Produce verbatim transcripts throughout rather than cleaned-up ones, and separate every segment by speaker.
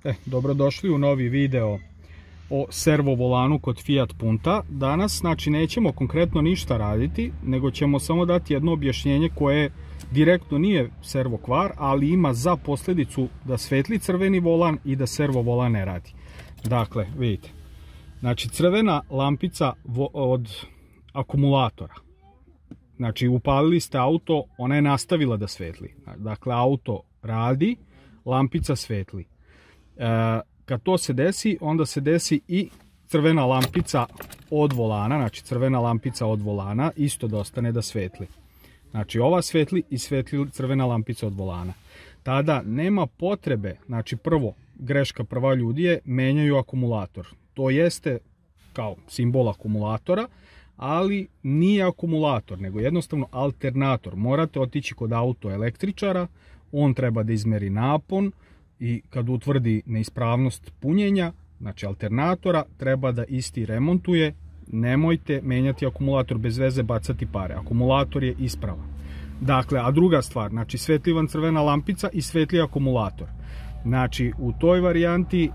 Speaker 1: E, dobrodošli u novi video o servo volanu kod Fiat Punta. Danas, znači, nećemo konkretno ništa raditi, nego ćemo samo dati jedno objašnjenje koje direktno nije servo kvar, ali ima za posljedicu da svetli crveni volan i da servo volan ne radi. Dakle, vidite, znači crvena lampica od akumulatora. Znači, upalili ste auto, ona je nastavila da svetli. Dakle, auto radi, lampica svetli. E, kad to se desi, onda se desi i crvena lampica od volana, znači crvena lampica od volana isto da ostane da svetli. Znači ova svetli i svetli crvena lampica od volana. Tada nema potrebe, znači prvo, greška prva ljudi je, menjaju akumulator. To jeste kao simbol akumulatora, ali nije akumulator, nego jednostavno alternator. Morate otići kod auto električara, on treba da izmeri napon, i kad utvrdi neispravnost punjenja, znači alternatora, treba da isti remontuje. Nemojte menjati akumulator bez veze, bacati pare. Akumulator je ispravan. Dakle, a druga stvar, znači svetli vam crvena lampica i svetli akumulator. Znači, u toj varijanti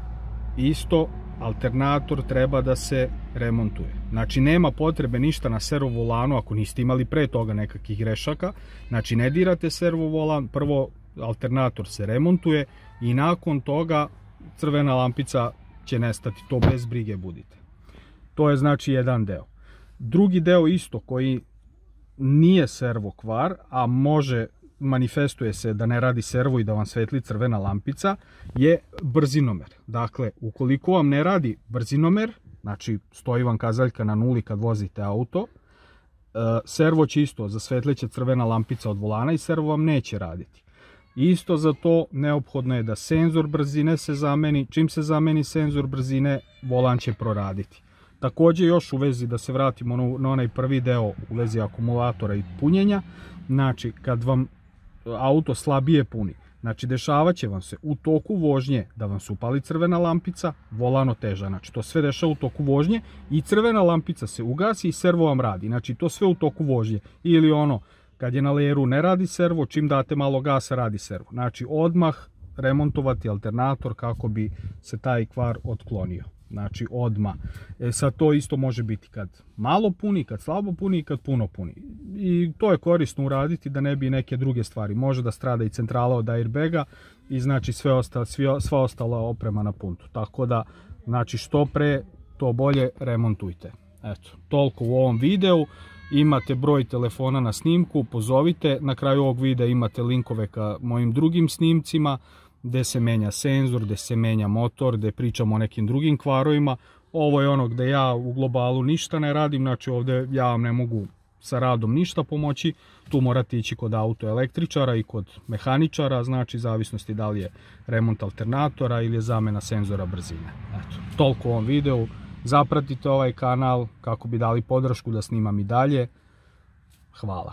Speaker 1: isto alternator treba da se remontuje. Znači, nema potrebe ništa na servo volanu ako niste imali pre toga nekakvih grešaka. Znači, ne dirate servo volan, prvo alternator se remontuje i nakon toga crvena lampica će nestati, to bez brige budite. To je znači jedan deo. Drugi deo isto koji nije servo kvar, a može, manifestuje se da ne radi servo i da vam svetli crvena lampica, je brzinomer. Dakle, ukoliko vam ne radi brzinomer, znači stoji vam kazaljka na nuli kad vozite auto, servo će isto, zasvetleće crvena lampica od volana i servo vam neće raditi. Isto za to neophodno je da senzor brzine se zameni. Čim se zameni senzor brzine, volan će proraditi. Također još u vezi, da se vratimo na onaj prvi deo u vezi akumulatora i punjenja, znači kad vam auto slabije puni, znači dešavat će vam se u toku vožnje da vam se upali crvena lampica, volan oteža. Znači to sve dešava u toku vožnje i crvena lampica se ugasi i servo vam radi. Znači to sve u toku vožnje. Ili ono, kad je na leru ne radi servo, čim date malo gasa radi servo. Znači odmah remontovati alternator kako bi se taj kvar otklonio. Znači odmah. E sad to isto može biti kad malo puni, kad slabo puni i kad puno puni. I to je korisno uraditi da ne bi neke druge stvari. Može da strada i centrala od airbaga i znači sve ostalo, sva ostala oprema na puntu. Tako da, znači što pre, to bolje remontujte. Eto, toliko u ovom videu. Imate broj telefona na snimku, pozovite. Na kraju ovog videa imate linkove ka mojim drugim snimcima, gde se menja senzor, gde se menja motor, gde pričamo o nekim drugim kvarovima. Ovo je ono gde ja u globalu ništa ne radim, znači ovdje ja vam ne mogu sa radom ništa pomoći. Tu morate ići kod auto električara i kod mehaničara, znači zavisnosti da li je remont alternatora ili je zamena senzora brzine. Eto, toliko u ovom videu. Zapratite ovaj kanal kako bi dali podršku da snimam i dalje. Hvala.